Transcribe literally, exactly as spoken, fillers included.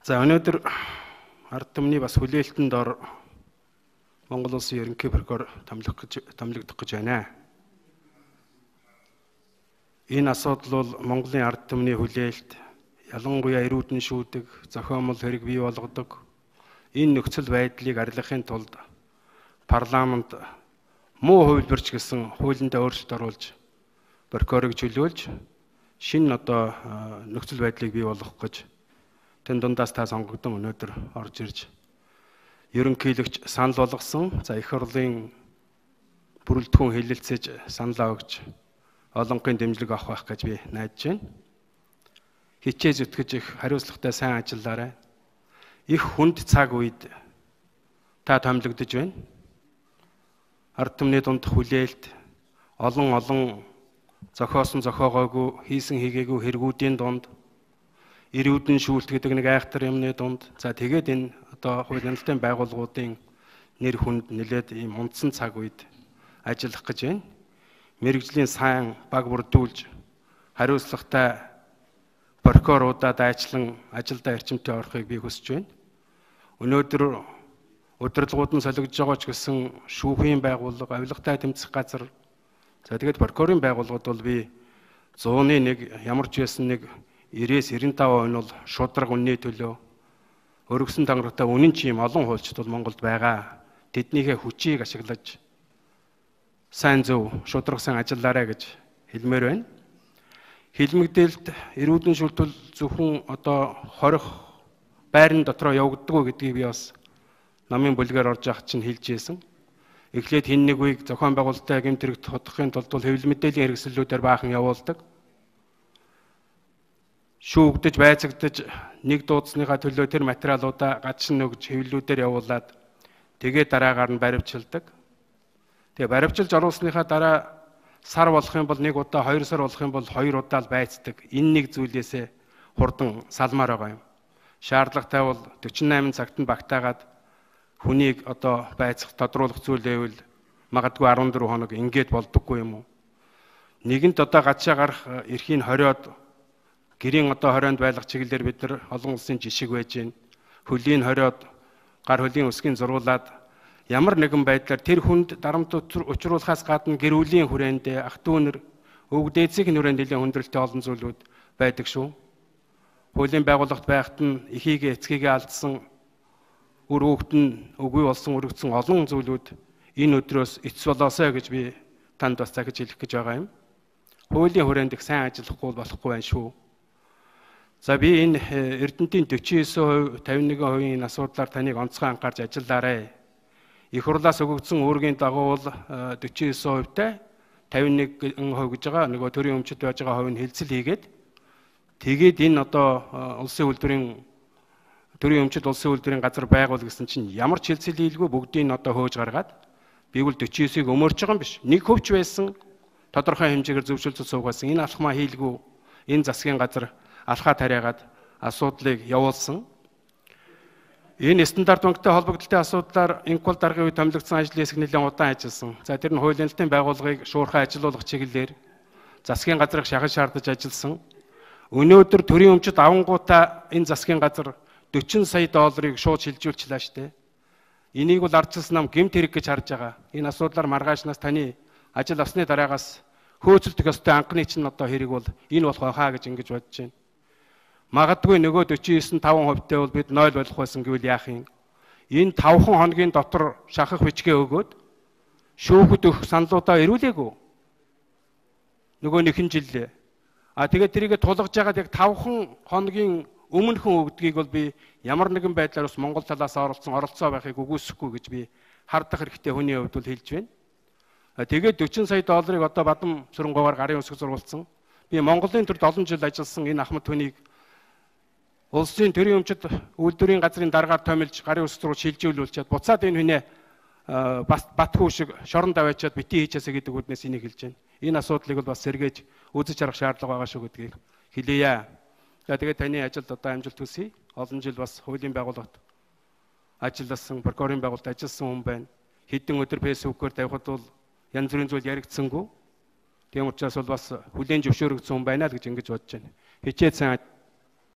За өнөөдөр ард түмний бас хүлээлтэнд ор Монгол Улсын ерөнхий прокурор томилох гэж томилогдох гэж байна. Энэ асуудал бол Монголын ард түмний хүлээлт, ялангуяа эрүүдэн шүүдэг, зохиомол хэрэг бий болгодог энэ нөхцөл байдлыг арилгахын тулд парламент муу хувилбарч гэсэн хуулиндаа өөрчлөлт оруулж прокурорыг чөлөөлж шинэ одоо нөхцөл байдлыг бий болгох гэж тэн дундаас та сонгогдсон өнөөдөр орж ирж ерөнхийлөгч санал болгосон. За их хурлын бүрэлдэхүүн хэлэлцэж саналаа өгч олонхын дэмжлэг авах байх гэж би найдаж байна. Хичээж зүтгэж их хариуцлагатай сайн ажиллаарай. Их хүнд цаг үед та томилогдож байна. Ард түмний дунд хүлээлт олон олон зохиосон зохиогоогүй хийсэн хийгээгүй хэрэгүүдийн дунд эрүүдэн шүүлтгэдэг нэг айхтар юмны дунд за тэгээд энэ одоо хууль нэлтийн байгууллагуудын нэр хүнд нэлээд ийм унтсан цаг үед ажиллах гэж байна. Мэргэжлийн сайн баг бүрдүүлж хариуцлагатай прокуроруудаа дайчлан ажилдаа эрчимтэй орохыг би хүсэж байна. Өнөөдөр удирдлагууд нь солигдож байгаа ч гэсэн шүүхийн байгууллага, авилгатай тэмцэх газар за тэгээд прокурорын байгууллагууд бол би зууны нэг ямар ч байсан нэг нэрээс девяносто пять процент нь бол шудраг үнний төлөө өргөсөн тангарагтай үнэн чи юм олон хуульчид бол Монголд байгаа. Тэднийхээ хүчийг ашиглаж сайн зөв шудрагсан ажиллаарай гэж хэлмээр байна. Хилмигдээлд эрүүдэн шүлтүүл зөвхөн одоо хорих байрны дотроо явагддаггүй гэдгийг би бас намын бүлгээр орж явах чинь хэлж ийсэн. Эхлээд хин нэг үеиг зохион байгуулалттай гэмт хэрэгт тодохын тулд бол хэвлэл мэдээллийн хэрэгслүүдээр баахан явуулдаг. Шүүгдэж байцагдаж нэг дуудсныхаа төлөө тэр материалуудаа гадшин нөгж хэвлэлүүдээр явуулаад тэгээд дараагаар нь баривчилдаг. Тэгээ баривчилж оруулсныхаа дараа сар болох юм бол нэг удаа, хоёр сар болох юм бол хоёр удаа л байцдаг. Энэ нэг зүйлээсээ хурдан салмаар байгаа юм. Шаардлагатай бол дөрвөн найман цагт нь багтаагаад хүнийг одоо байцах тодруулах зүйл байвал магадгүй арван дөрвөн хоног ингээд болдоггүй юм уу? Нэгэнт одоо гадшаа гарах эрхийн хориод гэрийн одоо хорионд байлгах чиглэлээр бид нар олон улсын жишг байж гин. Хөлийн хориод гар хөлийн өсгийн зургуулад ямар нэгэн байдлаар тэр хүнд дарамт учруулахаас гадна гэр бүлийн хүрээндээ ах дүүнэр өвөг дээдсийн хүрээнд нэлээд хүндрэлтэй олон зүйлүүд байдаг шүү. Хуулийн байгууллагт байхад нь эхийгээ эцгийгээ алдсан үр хүүхэд нь үгүй болсон өргөцсөн олон зүйлүүд энэ өдрөөс эцс болоосой гэж би танд бас захиж хэлэх гэж байгаа юм. Хуулийн хүрээнд их сайн ажиллахгүй болохгүй байх шүү. За би энэ Эрдэнэтийн forty-nine percent, fifty-one percent энэ асуудлаар таныг онцгой анхаарч ажиллаарай. Их хурлаас өгөгдсөн үүргийн дагуу бол forty-nine percent-тай fifty-one percent гэж байгаа нөгөө төрийн өмчөд байж байгаа хувь нь хэлцэл хийгээд тэгээд энэ одоо улсын үйлдвэрийн төрийн өмчөд улсын үйлдвэрийн газар байгуул гэсэн чинь ямар ч хэлцэл хийлгүй бүгдийг нь одоо хөөж гаргаад би бол forty-nine percent-ийг өмөрч байгаа юм биш. Нэг хөвч байсан тодорхой хэмжээгээр зөвшөлтөд суугасан энэ алхмаа хийлгүй энэ засгийн газар алхаа тариагаад асуудлыг явуулсан. Энэ стандарт банктай холбогдлолтой асуудлаар инкул даргын үед томилогдсон ажлын хэсэг нэлээд удаан ажилласан. За тэр нь хуулийн нэлтийн байгууллагыг шуурхай ажилуулах чиглэлээр засгийн газрыг шахаж шаардаж ажилласан. Өнөөдөр төрийн өмчөд авангуудаа энэ засгийн газар forty сая долларыг шууд шилжүүлчихлээ штэ. Энийг бол ардчилсан нам гэмт хэрэг гэж харж байгаа. Энэ асуудлаар маргаашнаас таны ажил авсны дараагаас хөөцөлдөх ёстой анхны чинь одоо хэрэг бол энэ болох байхаа гэж ингэж бодож байна. Магадгүй нөгөө forty-nine five percent-тэй бол бид ноль болох байсан гэвэл яах юм? Энэ five хоногийн дотор шахах бичгээ өгөөд шүүхэд өгөх саналуудаа ирүүлээгүй. Нөгөө нэгэн жил. А тэгээд тэрийгэ тулгаж яагаад яг five хоногийн өмнөхөн өгдгийг бол би ямар нэгэн байдлаар бас Монгол талаас оролцсон оролцоо байхыг үгүйсэхгүй гэж би хардах хэрэгтэй хүний хувьд бол хэлж байна. Тэгээд forty сая долларыг одоо бадам сүрэнгуугаар гарын үсэг зургуулсан. Би Монголын төрд олон жил ажилласан энэ ахмад хүнийг улсын төрийн өмчөд үйлдвэрийн газрын дараагаар томилж гарын үсэг зургуул шилжүүлүүлчихэд буцаад энэ хүнээ бас батгүй шиг шорон даваачаад битгий хийчихээсэ гэдэг үднээс энийг хэлж байна. Энэ асуудлыг бол бас сэргээж үзэж харах шаардлага байгаа шүү гэдгийг хэлье. За тэгээд таны ажилд одоо амжилт хүсье. Олон жил бас хуулийн байгууллагт ажилласан, прокурорын байгууллагт ажилласан хүн байна. Хэдэн өдөр фэйсбүүкээр тавихад бол янз бүрийн зүйл яригдсангүй. Тийм учраас бол бас хүлээн зөвшөөрөгдсөн хүн байна л гэж ингэж бодож байна. Хичээд сайн